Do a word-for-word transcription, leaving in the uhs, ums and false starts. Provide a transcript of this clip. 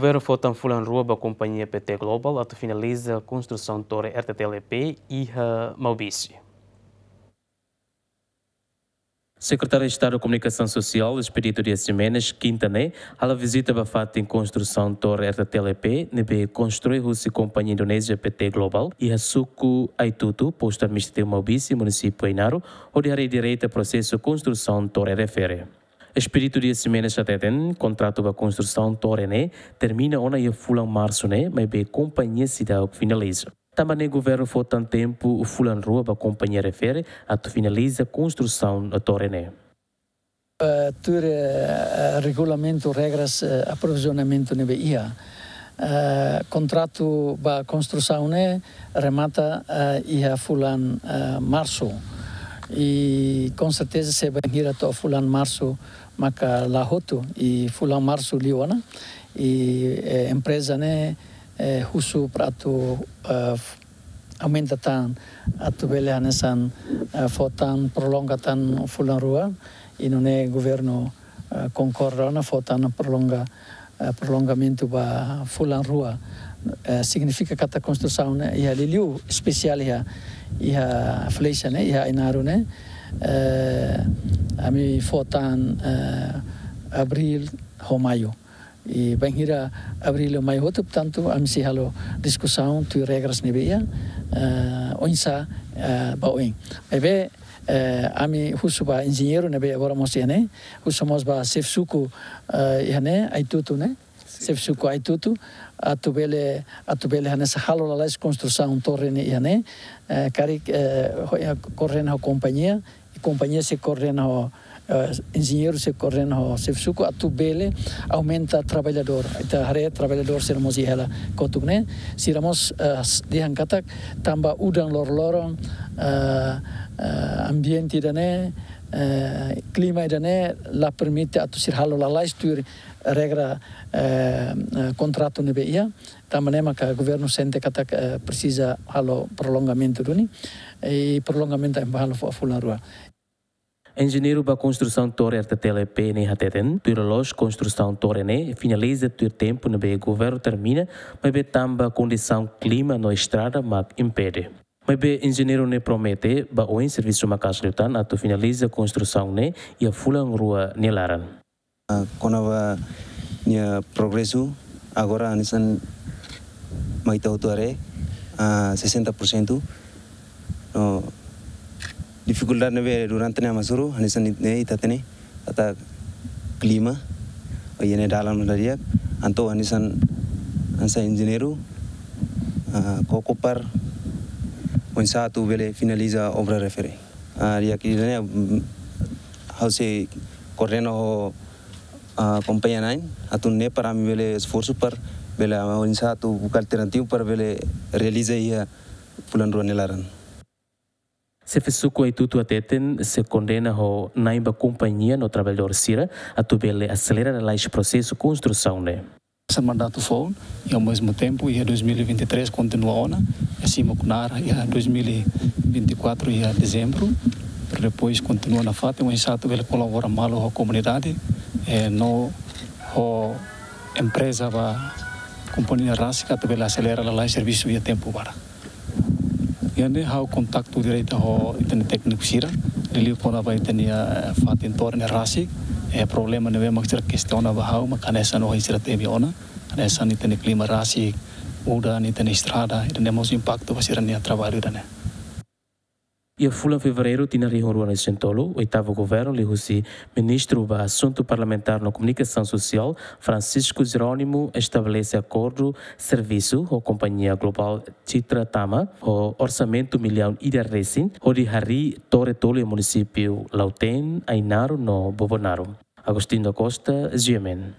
Governu fó tan fulan rua ba kompañia P T Global atu finaliza konstrusaun tore R T T L P iha Maubisse. Sekretáriu Estadu Komunikasaun Sosiál, Expedito Dias Ximenes, kinta ne'e, halo vizita ba fatin konstrusaun tore R T T L P, ne'ebé konstrui husi kompañia Indonézia P T Global, iha suku Aitutu, postu administrativu Maubisse, munisípiu Ainaro, hodi haree direta prosesu konstrusaun tore refere. Expedito Dias Ximenes hateten, kontratu ba konstrusaun tore ne'e termina ona iha fulan Marsu ne'e, maibé kompañia seidauk finaliza. Tanba ne'e governu fó tan tempu fulan rua ba kompañia refere atu finaliza konstrusaun tore ne'e. Eh, tuir, eh, regulamentu, regras, eh, aprovizionamentu ne'ebé iha. Eh, kontratu ba konstrusaun ne'e remata, eh, iha fulan, eh, Marsu. I com certeza se bainhira to'o fulan Marsu maka la hotu, i fulan Marsu liu ona, i, eh, empreza ne'e, eh, husu para atu, eh, f-, aumenta tan, atu bele hanesan, eh, fó tan, prolonga tan fulan rua, i nune'e governu, eh, konkorda ona fó tan prolonga, eh, prolongamentu ba fulan rua. Eh, signifika katak konstrusaun ne'e iha liuliu espesiál iha, iha flexa ne'e, iha Ainaro ne'e, eh, ami fó tan, eh, Abríl ho Maiu. I bainhira Abríl ho Maiu hotu, portantu, ami sei halo diskusaun tuir regras ne'ebé iha, eh, oinsá, eh, ba oin. Maibé, eh, ami husu ba enjeñeiru ne'ebé agora mós iha ne'e, husu mós ba xefe suku, eh, iha ne'e, Aitutu ne'e, xefe suku Aitutu, atu bele, atu bele hanesan halo lalais konstrusaun tore ne'e iha ne'e, eh, karik, eh, ho, eh, koordena ho kompañia, i kompañia sei koordena ho, eh, enjeñeiru sei koordena ho xefe suku atu bele aumenta traballadór. Ita haree traballadór sira mós iha hela kotuk ne'e. Sira mós, eh, s-, dehan katak tanba udan loroloron, eh, eh, ambiente ida-ne'e, eh, klima ida-ne'e la permite atu sira halo lalais tuir regra, eh, eh, kontratu ne'ebé iha. Tanba ne'e maka governu sente katak, eh, presiza halo prolongamentu duni. I prolongamentu ami halo fó fulan rua. Enjeñeiru ba konstrusaun tore R T T L P ne'e hateten, tuir loloos konstrusaun tore ne'e finaliza tuir tempu ne'ebé governu termina, maibé tanba kondisaun klima no estrada mak impede. Maibé enjeñeiru ne'e promete ba oin servisu maka'as liután atu finaliza konstrusaun ne'e iha fulan rua nia laran. Ah, kona-ba nia progresu, agora hanesan mai ita hotu haree, ah, sesenta por cento. No, difikuldade ne'ebé durante ne'e hamasuru, hanesan ne'e ita hatene, katak klima, o iha ne'e dalan la di'ak, entaun hanesan, hanesan enjeñeiru, ah, koko para, oinsá atu bele finaliza obra refere. Ah, di'ak ida-ne'e, mm, ha'u sei koordena ho, ah, kompañia na'in, atu nune'e para ami bele esforsu para bele, ah, oinsá atu buka alternativu para bele realiza iha fulan rua nia laran. Xefe suku Aitutu hateten sei koordena ho na'in ba kompañia no traballadór sira atu bele aselera lalais prosesu konstrusaun ne'e. Hanesan mandatu foun, i ao mesmo tempo, iha dois mil e vinte e três kontinua ona, i simu knaar, iha dois mil e vinte e quatro, iha dezembru, para depois kontinua nafatin, oinsá atu bele kolabora malu ho komunidade, eh, no ho empreza ba kompañia rasik atu bele aselera lalais servisu iha tempu badak. Iha ne'e ha'u kontaktu direta ho ita-nia tékniku sira, liuliu kona-ba ita-nia, eh, fatin tore ne'e rasik, eh, problema ne'ebé mak sira kestiona ba ha'u, mak hanesan ohin sira temi ona, hanesan ita-nia klima rasik, udan, ita-nia estrada, ida-ne'e mós impaktu ba sira-nia traballu ida-ne'e. Iha fulan Fevereiru tinan rihun rua resin tolu, oitavu governu liuhusi Ministru ba Asuntu Parlamentár no Komunikasaun Sosiál, Francisco Jerónimo, estabelese akordu servisu ho kompañia globál Citra Tama, ho orsamentu millaun ida resin, hodi harii tore tolu iha munisípiu Lautém, Ainaro no Bobonaro. Agostinho da Costa, G M N.